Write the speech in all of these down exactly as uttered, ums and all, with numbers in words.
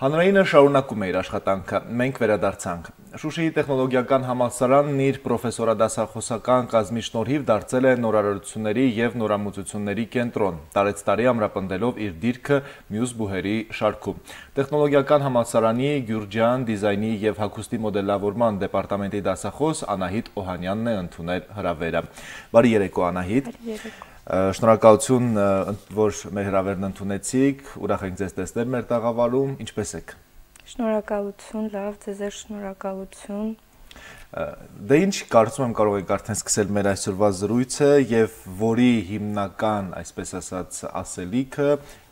Հանրայինը շարունակում է իր աշխատանքը, մենք վերադարձանք։ Շուշիի տեխնոլոգիական համալսարանն իր պրոֆեսորադասախոսական կազմի շնորհիվ դարձել է նորարարությունների և նորամուծությունների կենտրոն, տարեց տարի ամրապնդելով իր դիրքը մյուս բուհերի շարքում։ Տեխնոլոգիական համալսարանի Գյուրջյան դիզայնի և հագուստի մոդելավորման դեպարտամենտի դասախոս Անահիտ Օհանյանն է ընդունել հրավերը։ Բարի երեկո, Անահիտ։ Շնորհակալություն, որ մեր հրավերն ընդունեցիք, ուրախ ենք ձեզ տեսնել մեր տաղավարում, ինչպես եք։ Շնորհակալություն, լավ, ձեզ էլ շնորհակալություն։ Դե ինչ կարծում եմ կարող եք արդեն սկսել մեր այսօրվա զրույցը եւ որի հիմնական, այսպես ասած, ասելիքը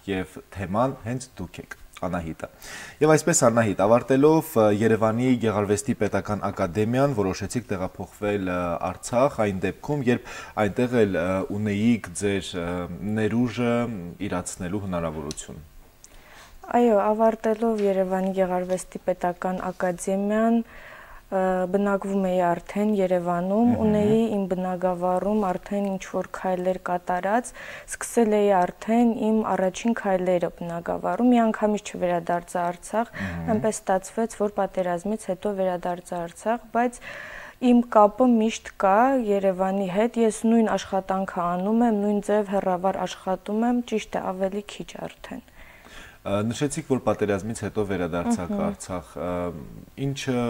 եւ թեման հենց դուք եք, Անահիտը։ Եվ այսպես Անահիտ, ավարտելով Երևանի Գեղարվեստի պետական ակադեմիան, որոշեցիք տեղափոխվել Արցախ, այն դեպքում, երբ այնտեղ էլ ունեիք ձեր ներուժը իրացնելու հնարավորություն։ Այո, ավարտելով Երևանի Գեղարվեստի պետական ակադեմիան, բնակվում էի արդեն Երևանում, ունեի իմ բնակավարում արդեն ինչ-որ քայլեր կատարած, սկսել էի արդեն իմ առաջին քայլերը բնակավարում, մի անգամից չվերադարձա Արցախ, այնպես ստացվեց, որ պատերազմից հետո վերադարձա Արցախ, բայց իմ կապը միշտ կա Երևանի հետ, ես նույն աշխատանքը անում եմ, նույն ձև հեռավար աշխատում եմ, ճիշտ է ավելի քիչ արդեն։ Նշեցիք, որ պատերազմից հետո վերադարձաք Արցախ, ինչը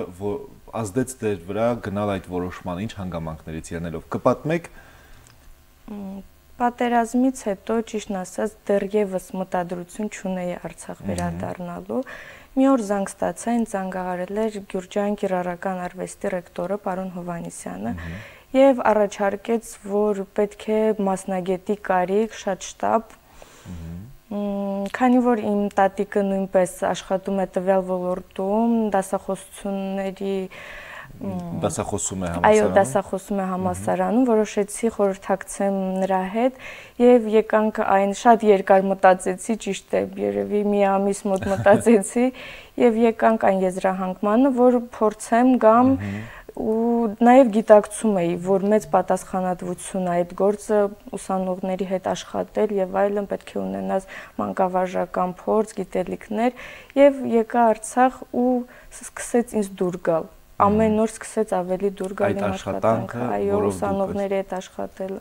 ազդեց ձեր վրա գնալ այդ որոշման, ինչ հանգամանքներից ելնելով, կպատմեք։ Պատերազմից հետո, ճիշտն ասած, դեռևս մտադրություն չունեի Արցախ վերադառնալու։ Մի օր զանգ ստացա, ինձ զանգահարել էր Գյուրջան կիրառական արվեստի ռեկտորը պարոն Հովհաննիսյանը եւ առաջարկեց, որ պետք է մասնագետի կարիք, շատ շտապ։ Քանի որ իմ տատիկը նույնպես աշխատում է տվյալ ոլորտում, դասախոսությունների դասախոսում է համալսարանում։ Այո, դասախոսում է համալսարանում, որոշեցի խորհրդակցեմ նրա հետ եւ եկանք այն շատ երկար մտածեցի, ճիշտ է, երևի մի ամիս մոտ մտածեցի եւ եկանք այն եզրահանգմանը, որ փորձեմ գամ ու նաև գիտակցում էի, որ մեծ պատասխանատվություն է այդ գործը ուսանողների հետ աշխատել եւ այլն, պետք է ունենաս մանկավարժական փորձ, գիտելիքներ եւ եկա Արցախ ու սկսեց ինձ դուր գալ։ Ամեն օր սկսեց ավելի դուր գալ իմ աշխատանքը, այո, ուսանողների հետ աշխատելը։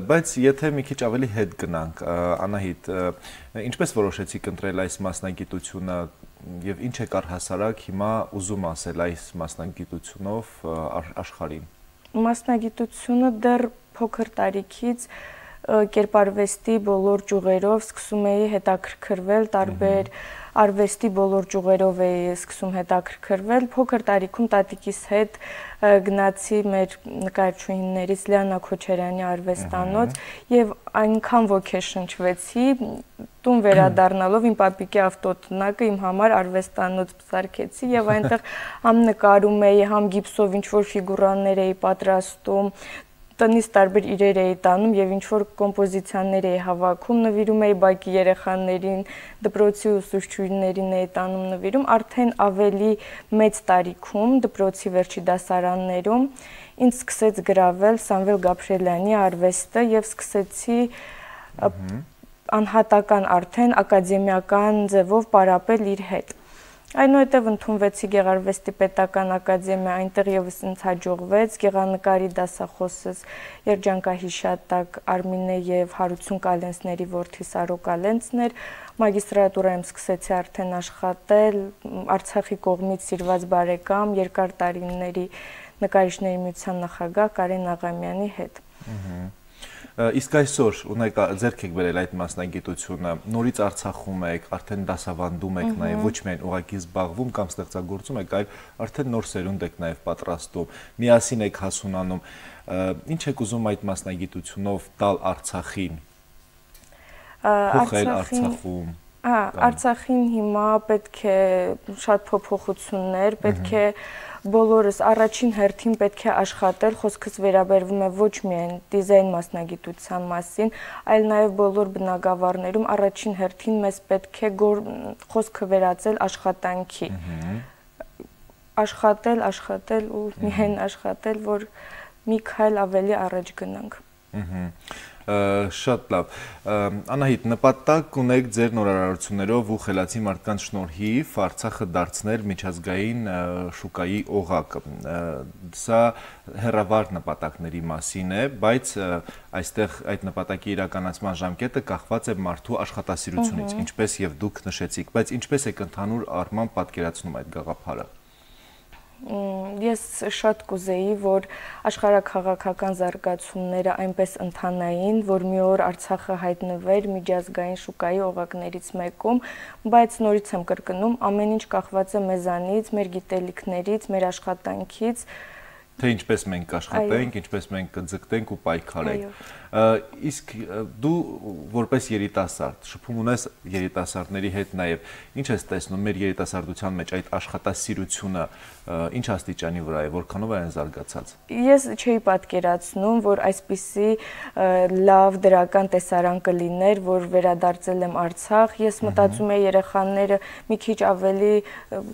Բայց եթե մի քիչ ավելի հետ գնանք, Անահիտ, ինչպես որոշեցիք ընտրել այս մասնագիտությունը եւ ինչ եք առհասարակ հիմա ուզում ասել այս մասնագիտությունով աշխարհին։ Մասնագիտությունը դեռ փոքր տարիքից կերպարվեստի բոլոր ճյուղերով սկսում էի հետաքրքրվել, տարբեր արվեստի բոլոր ճյուղերով էի սկսում հետաքրքրվել, փոքր տարիքում տատիկիս հետ գնացի մեր նկարչուհիներից Լիանա Քոչարյանի արվեստանոց եւ այնքան ոգեշնչվեցի, տուն վերադառնալով իմ պապիկի ավտոտնակը իմ համար արվեստանոց սարքեցի եւ այնտեղ համ նկարում էի, համ գիպսով ինչ-որ ֆիգուրաներ էի պատրաստում, տնից տարբեր իրեր էի տանում եւ ինչ-որ կոմպոզիցիաներ էի հավաքում, նվիրում էի բակի երեխաներին, դպրոցի ուսուցչուհիներին էի տանում նվիրում, արդեն ավելի մեծ տարիքում, դպրոցի վերջի դասարաններում ինձ սկսեց գրավել Սամվել Գաբրիելյանի արվեստը եւ սկսեցի անհատական արդեն ակադեմիական ձևով պարապել իր հետ։ Այնուհետև ընդունվեցի Գեղարվեստի պետական ակադեմիա, այնտեղ եւս ինձ հաջողվեց, գեղանկարի դասախոսս երջանկահիշատակ Արմինե եւ Հարություն Կալենցների որդի Սարո Կալենցն էր, մագիստրատուրայում սկսեցի արդեն աշխատել, Արցախի կողմից սիրված բարեկամ, երկար տարիների նկարիչների միության նախագահ Կարեն Աղամյանի հետ։ Իսկ այսօր ունեք ձեռք եք բերել այդ մասնագիտությունը, նորից Արցախում եք, արդեն դասավանդում եք նաև, ոչ միայն ուղղակի զբաղվում կամ ստեղծագործում եք, այլ արդեն նոր սերունդ եք նաև պատրաստում, միասին եք հասունանում։ Ինչ եք ուզում այդ մասնագիտությունով տալ Արցախին, փոխել Արցախում։ Արցախին հիմա պետք է շատ փոփոխություններ, պետք է բոլորս առաջին հերթին պետք է աշխատել, խոսքս վերաբերվում է ոչ միայն դիզայն մասնագիտության մասին, այլ նաև բոլոր բնակավարներում առաջին հերթին մեզ պետք է խոսքը վերածել աշխատանքի։ Աշխատել, աշխատել ու միայն աշխատել, որ մի քայլ ավելի առաջ գնանք։ Շատ լավ։ Անահիտ, նպատակ ունեք ձեր նորարարություններով ու խելացի մարդկանց շնորհիվ Արցախը դարձնել միջազգային շուկայի օղակ։ Սա հեռավար նպատակների մասին է, բայց այստեղ այդ նպատակի իրականացման ժամկետը կախված է մարդու աշխատասիրությունից, ինչպես եւ դուք նշեցիք, բայց ինչպես եք ընդհանուր առմամբ պատկերացնում այդ գաղափարը։ Ես շատ կուզեի, որ աշխարհաքաղաքական զարգացումները այնպես ընթանային, որ մի օր Արցախը հայտնվեր միջազգային շուկայի օղակներից մեկում, բայց նորից եմ կրկնում, ամեն ինչ կախված է մեզանից, մեր գիտելիքներից, մեր աշխատանքից, թե ինչպես մենք աշխատենք, ինչպես մենք կձգտենք ու պայքարենք։ Իսկ դու որպես երիտասարդ, շփում ունես երիտասարդների հետ նաև, ինչ ես տեսնում մեր երիտասարդության մեջ այդ աշխատասիրությունը ինչ աստիճանի վրա է, որքանով է այն զարգացած։ Ես չէի պատկերացնում, որ այսպիսի լավ դրական տեսարան կլիներ, որ վերադարձել եմ Արցախ, ես մտածում եի երեխաները մի քիչ ավելի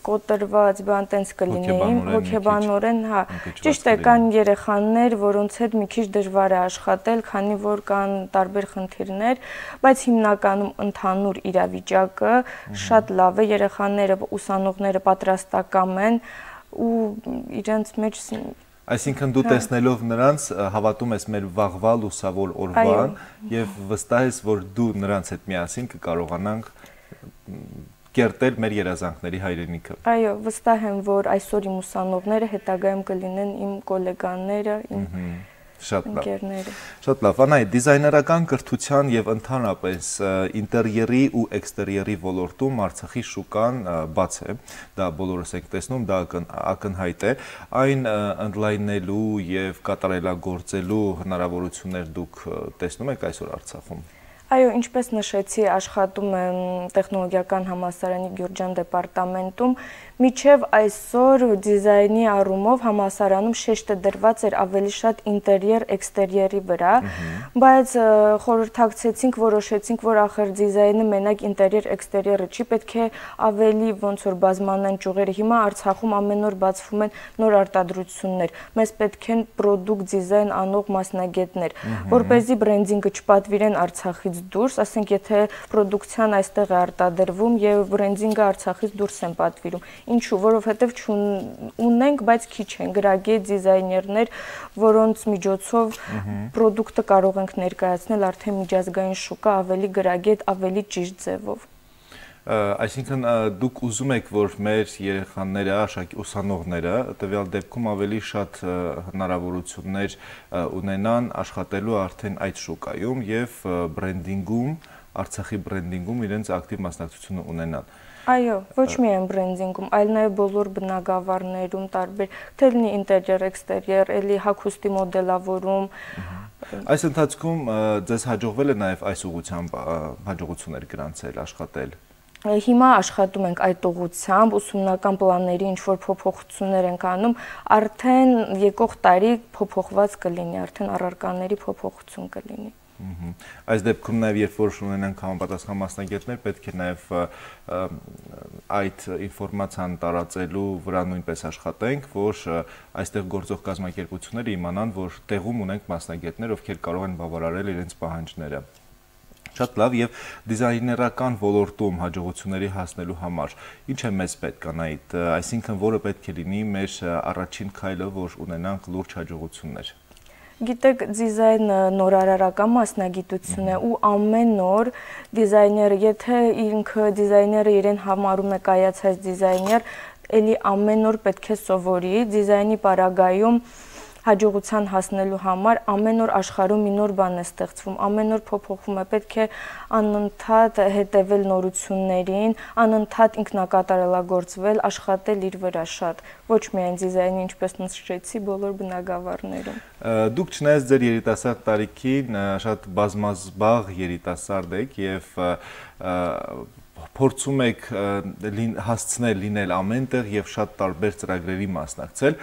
կոտրված, բան տենց կլինեին, հոգեբանորեն, հա, ճիշտ է, կան երեխաներ, որոնց հետ մի քիչ դժվար է աշխատել, քանի որ կան տարբեր խնդիրներ, բայց հիմնականում ընդհանուր իրավիճակը շատ լավ է, երեխաները, ուսանողները պատրաստակամ են ու իրենց մեջ Այսինքն դու տեսնելով նրանց հավատում ես մեր վաղվա լուսավոր օրվան եւ վստահ ես, որ դու նրանց հետ միասին կկարողանանք կերտել մեր երազանքների հայրենիքը։ Այո, վստահ եմ, որ այսօր իմ ուսանողները հետագայում կլինեն իմ գոլեգաները, իմ ընկերները։ Շատ լավ, Անահիտ, դիզայներական կրթության եւ ընդհանրապես ինտերիերի ու էքստերիերի ոլորտում Արցախի շուկան բաց է, դա բոլորս ենք տեսնում, դա ակնհայտ է, այն ընդլայնելու եւ կատարելագործելու հնարավորություններ դուք տեսնում եք այսօր Արցախում։ Այո, ինչպես նշեցի, աշխատում եմ տեխնոլոգիական համալսարանի Գյուրջան դեպարտամենտում, միջև այսօր դիզայնի առումով համալսարանում շեշտը դրված էր ավելի շատ ինտերիեր, էքստերիերի վրա, բայց խորհրդակցեցինք, որոշեցինք, որ ախր դիզայնը մենակ ինտերիեր, էքստերիերը չի, պետք է ավելի ոնց որ բազմանան ճյուղերը։ Հիմա Արցախում ամեն օր բացվում են նոր արտադրություններ, մեզ պետք են պրոդուկտ դիզայն անող մասնագետներ, որպեսզի բրենդինգը չպատվիրեն Արցախից դուրս, ասենք եթե պրոդուկցիան այստեղ է արտադրվում եւ բրենդինգը Արցախից դուրս են պատվիրում։ Ինչու, որովհետեւ չունենք, բայց քիչ են գրագետ դիզայներներ, որոնց միջոցով պրոդուկտը կարող ենք ներկայացնել արդեն միջազգային շուկա ավելի գրագետ, ավելի ճիշտ ձևով։ Այսինքն դուք ուզում եք, որ մեր երեխաները, ուսանողները տվյալ դեպքում ավելի շատ հնարավորություններ ունենան աշխատելու արդեն այդ շուկայում եւ բրենդինգում, Արցախի բրենդինգում իրենց ակտիվ մասնակցությունը ունենան։ Այո, ոչ միայն բրենդինգում, այլ նաև բոլոր բնագավառներում տարբեր, թե լինի ինտերիեր, էքստերիեր, էլի հագուստի մոդելավորում։ Այս ընթացքում ձեզ հաջողվել է նաև այս ուղղությամբ հաջողություններ գրանցել, աշխատել։ Հիմա աշխատում ենք այդ ուղղությամբ, ուսումնական պլանների ինչ-որ փոփոխություններ ենք անում, արդեն եկող տարի փոփոխված կլինի, արդեն առարկաների փոփոխություն կլինի։ Այս դեպքում նաև երբ որ ունենանք համապատասխան մասնագետներ, պետք է նաև այդ ինֆորմացիան տարածելու վրա նույնպես աշխատենք, որ այստեղ գործող կազմակերպությունները իմանան, որ տեղում ունենք մասնագետներ, ովքեր կարող են բավարարել իրենց պահանջները։ Շատ լավ, եւ դիզայներական ոլորտում հաջողությունների հասնելու համար ինչ է մեզ պետք, Անահիտ, այսինքն որը պետք է լինի մեր առաջին քայլը, որ ունենանք լուրջ հաջողություններ։ Գիտեք, դիզայնը նորարարական մասնագիտություն է ու ամեն օր դիզայները, եթե ինքը դիզայները իրեն համարում է կայացած դիզայներ, էլի ամեն օր պետք է սովորի, դիզայնի պարագայում հաջողության հասնելու համար ամեն օր աշխարհում մի նոր բան է ստեղծվում, ամեն օր փոփոխվում է, պետք է անընդհատ հետևել նորություններին, անընդհատ ինքնակատարելագործվել, աշխատել իր վրա շատ, ոչ միայն դիզայնի, ինչպես նշեցի, բոլոր բնագավառներում։ Դուք չնայած ձեր երիտասարդ տարիքին շատ բազմազբաղ երիտասարդ եք եւ փորձում եք հասցնել լինել ամենտեղ եւ շատ տարբեր ծրագրերի մասնակցել,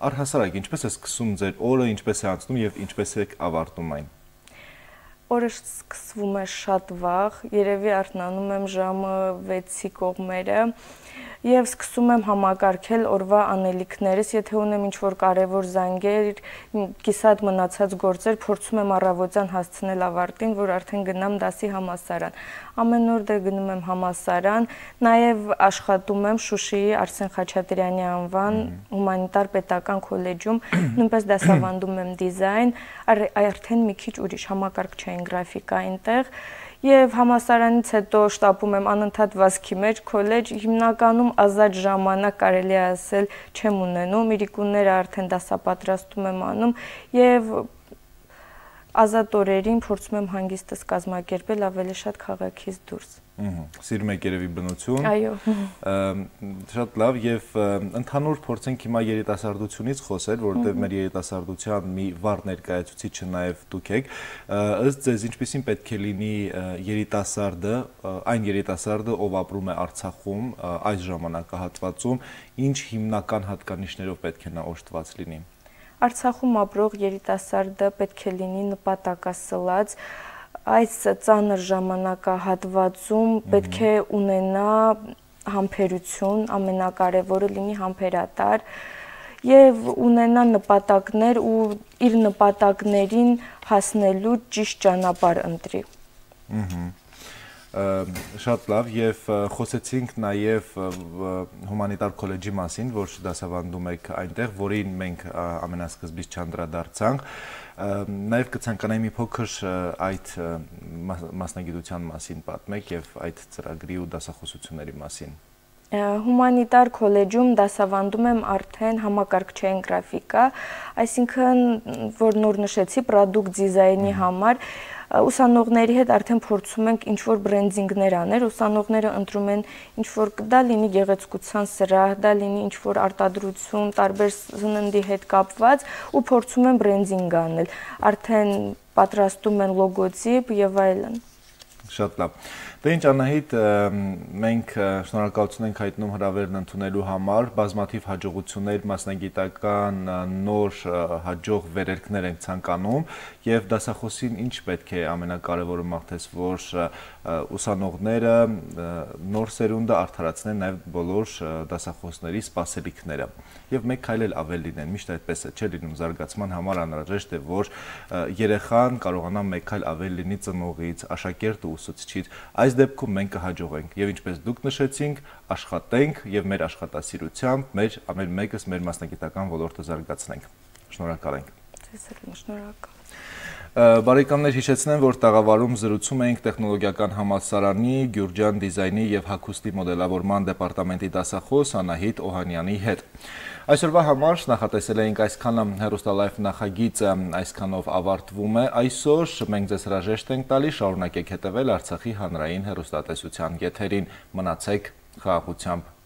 առհասարակ ինչպես է սկսում ձեր օրը, ինչպես է անցնում եւ ինչպես եք ավարտում այն։ Օրը սկսվում է շատ վաղ, երևի արթնանում եմ ժամը վեցի կողմերը, եւ սկսում եմ համակարգել օրվա անելիքներս, եթե ունեմ ինչ-որ կարևոր զանգեր, կիսատ մնացած գործեր, փորձում եմ առավոտյան հասցնել ավարտին, որ արդեն գնամ դասի համալսարան։ Ամեն օր դե գնում եմ համալսարան, նաեւ աշխատում եմ Շուշիի Արսեն Խաչատրյանի անվան հումանիտար պետական քոլեջում, նույնպես դասավանդում եմ դիզայն, արդեն մի քիչ ուրիշ համակարգչային գրաֆիկա այնտեղ։ Եվ համալսարանից հետո շտապում եմ անընդհատ վազքի մեջ քոլեջ, հիմնականում ազատ ժամանակ կարելի է ասել չեմ ունենում, իրիկունները արդեն դասապատրաստում եմ անում եւ ազատ օրերին փորձում եմ հանգիստս կազմակերպել ավելի շատ քաղաքից դուրս։ Սիրում եք երևի բնություն։ Այո։ Շատ լավ եւ ընդհանուր փորձենք հիմա երիտասարդությունից խոսել, որովհետեւ մեր երիտասարդության մի վառ ներկայացուցիչը նաեւ դուք եք։ Ըստ ձեզ ինչպեսին պետք է լինի երիտասարդը, այն երիտասարդը, ով ապրում է Արցախում այս ժամանակահատվածում, ինչ հիմնական հատկանիշներով պետք է նա օժտված լինի։ Արցախում ապրող երիտասարդը պետք է լինի նպատակասլաց, այս ծանր ժամանակահատվածում պետք է ունենա համբերություն, ամենակարևորը լինի համբերատար եւ ունենա նպատակներ ու իր նպատակներին հասնելու ճիշտ ճանապարհ ընտրի։ Շատ լավ եւ խոսեցինք նաեւ հումանիտար քոլեջի մասին, որ դասավանդում եք այնտեղ, որին մենք ամենասկզբից չանդրադարձանք, նաեւ կցանկանայի մի փոքր այդ մասնագիտության մասին պատմեք եւ այդ ծրագրի ու դասախոսությունների մասին։ Հումանիտար քոլեջում դասավանդում եմ արդեն համակարգչային գրաֆիկա, այսինքն որ նոր նշեցի պրոդուկտ դիզայնի համար ուսանողների հետ արդեն փորձում ենք ինչ-որ բրենդինգներ անել, ուսանողները ընտրում են ինչ-որ դա լինի գեղեցկության սրահ, դա լինի ինչ-որ արտադրություն, տարբեր սննդի հետ կապված ու փորձում են բրենդինգ անել, արդեն պատրաստում են լոգոտիպ եւ այլն։ Շատ լավ։ Դե ինչ Անահիտ, մենք շնորհակալություն ենք հայտնում հրավերն ընդունելու համար, բազմաթիվ հաջողություններ, մասնագիտական նոր հաջող վերելքներ ենք ցանկանում եւ դասախոսին ինչ պետք է ամենակարևորը մաղթես, որ ուսանողները նոր սերունդը արդարացնեն նաեւ բոլոր դասախոսների սպասելիքները եւ մեկ քայլ էլ ավել լինեն, միշտ այդպես է, չէ՞ լինում զարգացման համար անհրաժեշտ է, որ երեխան կարողանա մեկ քայլ ավել լինի ծնողից, աշակերտը ուսուցչից, այս դեպքում մենք կհաջողենք եւ ինչպես դուք նշեցինք, աշխատենք եւ մեր աշխատասիրությամբ մեր ամեն մեկս մեր մասնագիտական ոլորտը զարգացնենք։ Շնորհակալ ենք։ Ձեզ էլ շնորհակալ։ Բարեկամներ, հիշեցնեմ, որ տաղավարում զրուցում ենք տեխնոլոգիական համալսարանի Գյուրջան դիզայնի եւ հագուստի մոդելավորման դեպարտամենտի դասախոս Անահիտ Օհանյանի հետ։ Այսօրվա համար նախատեսել էինք այսքանը, հեռուստալայվ նախագիծը այսքանով ավարտվում է, այսօր մենք ձեզ հրաժեշտ ենք տալի, շարունակեք հետևել Արցախի հանրային հեռուստատեսության եթերին, մնացեք խաղաղությամբ։